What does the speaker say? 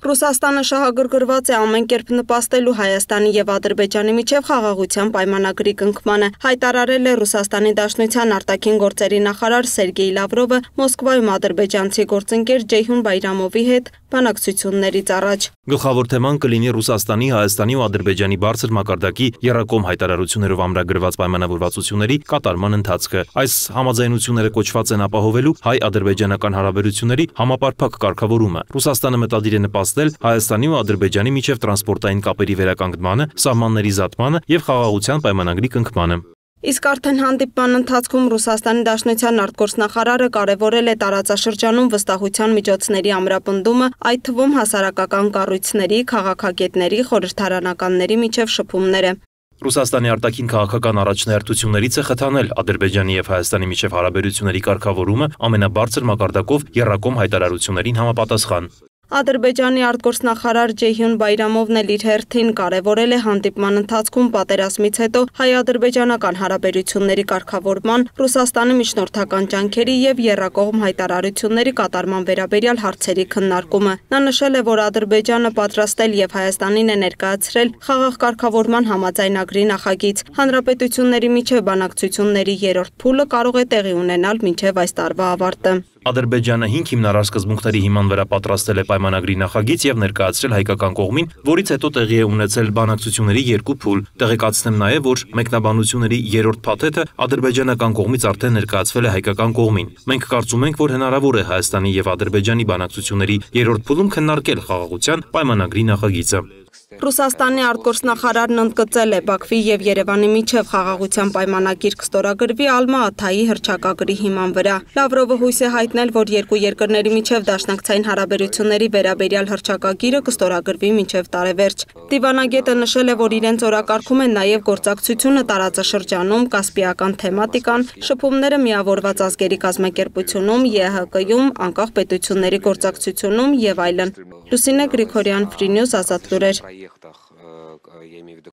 Ռուսաստանը շահագրգռված է ամեն կերպ նպաստելու Հայաստանի եւ Ադրբեջանի միջև խաղաղության պայմանագրի կնքմանը, հայտարարել է Ռուսաստանի Դաշնության արտաքին գործերի նախարար Սերգեյ Լավրովը Մոսկվայում ադրբեջանցի գործընկեր Ջեյհուն Բայրամովի հետ բանակցություններից առաջ։ Գլխավոր թեման կլինի Ռուսաստանի, Հայաստանի ու Ադրբեջանի բարձր մակարդակի եռակողմ հայտարարություններով ամրագրված պայմանավորվածությունների կատարման ընթացքը։ Այս համաձայնությունները կոչված են ապահովելու հայ-ադրբեջանական հարաբերությունների համապարփակ կարգավորումը։ Ռուսաստանը մտադիր է նպաստել Հայաստանի ու Ադրբեջանի միջև տրանսպորտային կապերի վերականգնմանը, սահմանների զատմանը եւ խաղաղության պայմանագրի կնքմանը։ Իսկ արդեն հանդիպման ընթացքում Ռուսաստանի Դաշնության արտգործնախարարը կարևորել է տարածաշրջանում վստահության միջոցների ամրապնդումը, այդ թվում հասարակական կառույցների, քաղաքագետների, խորհրդարանականների միջև շփումները։ Ռուսաստանի արտաքին քաղաքական առաջնահերթություններից է խթանել Ադրբեջանի եւ Հայաստանի միջև հարաբերությունների կարգավորումը ամենաբարձր մակարդակով եռակողմ հայտարարություններին համապատասխան։ Ադրբեջանի արտգործնախարար Ջեյհուն Բայրամովն էլ իր հերթին կարևորել է հանդիպման ընթացքում պատերազմից հետո հայ-ադրբեջանական հարաբերությունների կարգավորման, Ռուսաստանի միջնորդական ջանքերի եւ եռակողմ հայտարարությունների կատարման վերաբերյալ հարցերի քննարկումը։ Նա նշել է, որ Ադրբեջանը պատրաստել եւ Հայաստանին է ներկայացրել խաղաղ կարգավորման համաձայնագրի նախագիծ։ Հանրապետությունների միջև բանակցությունների երրորդ փուլը կարող է տեղի ունենալ մինչև այս տարվա ավարտը։ Ադրբեջանը 5 հիմնարար սկզբունքների հիման վրա պատրաստել է պայմանագրի նախագիծ եւ ներկայացրել հայկական կողմին, որից հետո տեղի է ունեցել բանակցությունների երկու փուլ։ Տեղեկացնեմ նաեւ, որ մեկնաբանությունների երրորդ փաթեթը ադրբեջանական կողմից արդեն ներկայացվել է հայկական կողմին։ Մենք կարծում ենք, որ հնարավոր է Հայաստանի եւ Ադրբեջանի բանակցությունների երրորդ փուլում քննարկել խաղաղության պայմանագրի նախագիծը։ Ռուսաստանի արտգործնախարարն ընդգծել է Բաքվի եւ Երևանի միջև խաղաղության պայմանագիր կստորագրվի Ալմա-Աթայի հռչակագրի հիման վրա։ Լավրովը հույս է հայտնել, որ երկու երկրների միջև դաշնակցային հարաբերությունների վերաբերյալ հռչակագիրը կստորագրվի մինչև տարեվերջ։ Դիվանագետը նշել է, որ իրենց օրակարգում են նաեւ գործակցությունը տարածաշրջանում, կասպիական թեմատիկան, շփումները միավորված ազգերի կազմակերպությունում, ԵՀԿ-ում, անկախ պետությունների գործակցությունում եւ այլն։ Լուսինե Գրիգորյան, Free News, Ազատ լուրեր։